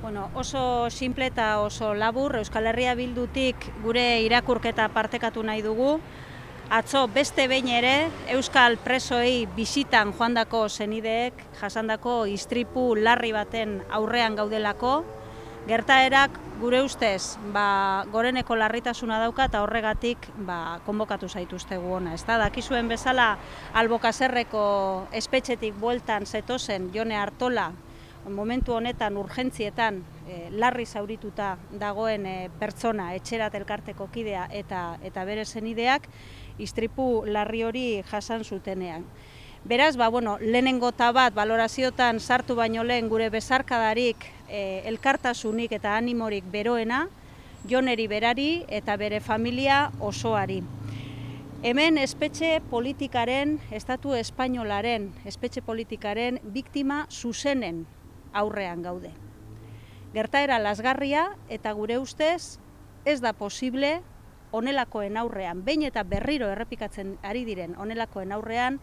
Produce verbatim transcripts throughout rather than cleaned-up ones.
Bueno, oso simple eta oso labur, Euskal Herria Bildutik gure irakurketa partekatu nahi dugu. Atzo beste behin ere Euskal presoei bisitan joandako senideek jasandako istripu larri baten aurrean gaudelako. Gertaerak gure ustez ba, goreneko larritasuna dauka eta horregatik ba, konbokatu zaituztegu ona. Ez da, dakizuen bezala Albokazerreko espetxetik bueltan zetozen Jone Artola, momentu honetan urgentzietan e, larri zaurituta dagoen e, pertsona, etxerat elkarteko kidea eta, eta bere senideak istripu larri hori jasan zutenean. Beraz, ba, bueno, lehenengo bat baloraziotan sartu baino lehen gure besarkadarik, e, elkartasunik eta animorik beroena, Joneri berari eta bere familia osoari. Hemen espetxe politikaren, estatu espainolaren, espetxe politikaren biktima zuzenen aurrean gaude. Gertaera lasgarria eta gure ustez ez da posible honelakoen aurrean, behin eta berriro errepikatzen ari diren honelakoen aurrean,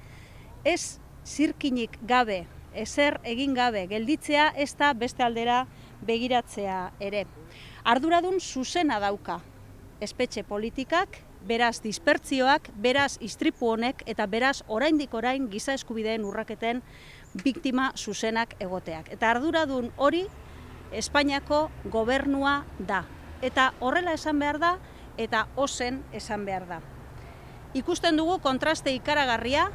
ez zirkinik gabe, ezer egin gabe, gelditzea ez da beste aldera begiratzea ere. Arduradun zuzena dauka espetxe politikak, beraz dispertzioak, beraz istripu honek eta beraz oraindik orain giza eskubideen urraketen biktima zuzenak egoteak. Eta arduradun hori Espainiako gobernua da. Eta horrela esan behar da eta ozen esan behar da. Ikusten dugu kontraste ikaragarria,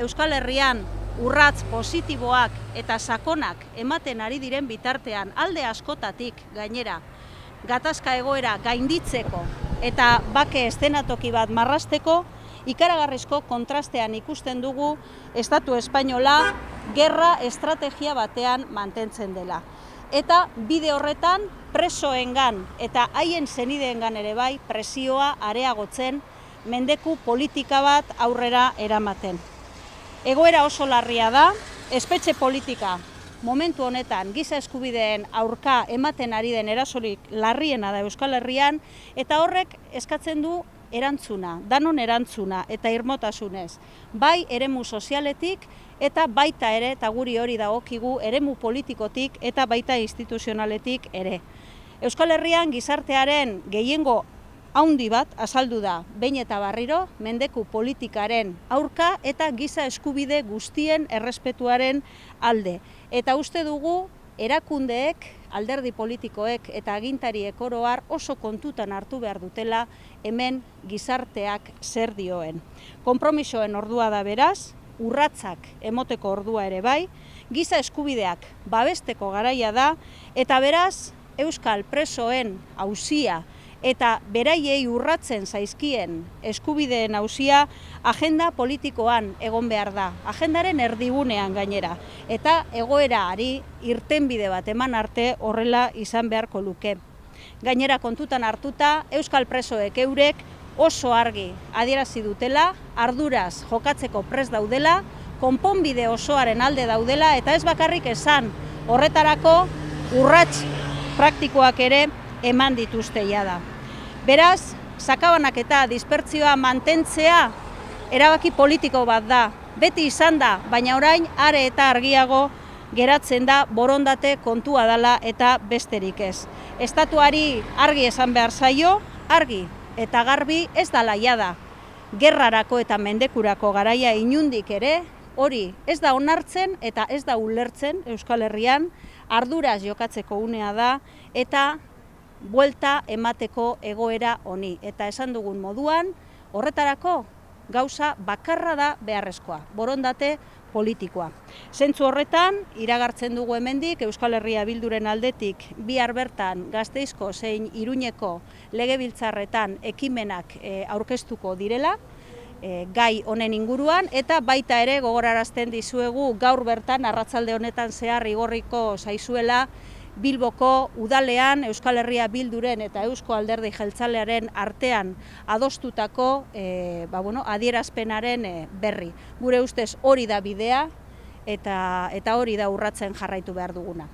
Euskal Herrian urratz positiboak eta sakonak ematen ari diren bitartean alde askotatik gainera gatazka egoera gainditzeko eta bake eszenatoki bat marrasteko, ikaragarrizko kontrastean ikusten dugu Estatu Espainola gerra estrategia batean mantentzen dela. Eta bide horretan presoengan eta haien senideengan ere bai presioa areagotzen, mendeku politika bat aurrera eramaten. Egoera oso larria da, espetxe politika momentu honetan giza eskubideen aurka ematen ari den erasorik larriena da Euskal Herrian, eta horrek eskatzen du erantzuna, danon erantzuna eta irmotasunez, bai eremu sozialetik eta baita ere, eta guri hori dagokigu, eremu politikotik eta baita instituzionaletik ere. Euskal Herrian gizartearen gehiengo haundi bat azaldu da, behin eta barriro, mendeku politikaren aurka eta giza eskubide guztien errespetuaren alde. Eta uste dugu, erakundeek, alderdi politikoek eta agintariek oro har oso kontutan hartu behar dutela hemen gizarteak zer dioen. Konpromisoen ordua da beraz, urratsak emoteko ordua ere bai, giza eskubideak babesteko garaia da, eta beraz, Euskal presoen auzia eta beraiei urratzen zaizkien eskubideen auzia agenda politikoan egon behar da, agendaren erdigunean gainera, eta egoerari irtenbide bat eman arte horrela izan beharko luke. Gainera kontutan hartuta, Euskal presoek eurek oso argi adierazi dutela, arduraz jokatzeko prest daudela, konponbide osoaren alde daudela, eta ez bakarrik esan horretarako urrats praktikoak ere eman dituzte jada. Beraz, sakabanak eta dispertzioa mantentzea erabaki politiko bat da. Beti izan da, baina orain are eta argiago geratzen da borondate kontua dela eta besterik ez. Estatuari argi esan behar zaio, argi eta garbi ez dela jada. Gerrarako eta mendekurako garaia inundik ere, hori ez da onartzen eta ez da ulertzen Euskal Herrian, arduraz jokatzeko unea da eta buelta emateko egoera honi. Eta esan dugun moduan, horretarako gauza bakarra da beharrezkoa, borondate politikoa. Zentzu horretan, iragartzen dugu hemendik Euskal Herria Bilduren aldetik bihar bertan Gasteizko zein Iruñeko legebiltzarretan ekimenak e, aurkeztuko direla, e, gai honen inguruan, eta baita ere gogorarazten dizuegu gaur bertan arratsalde honetan zehar igorriko zaizuela Bilboko udalean Euskal Herria Bilduren eta Eusko Alderdi Jeltzalearen artean adostutako e, ba, bueno, adierazpenaren e, berri. Gure ustez hori da bidea eta, eta hori da urratzen jarraitu behar duguna.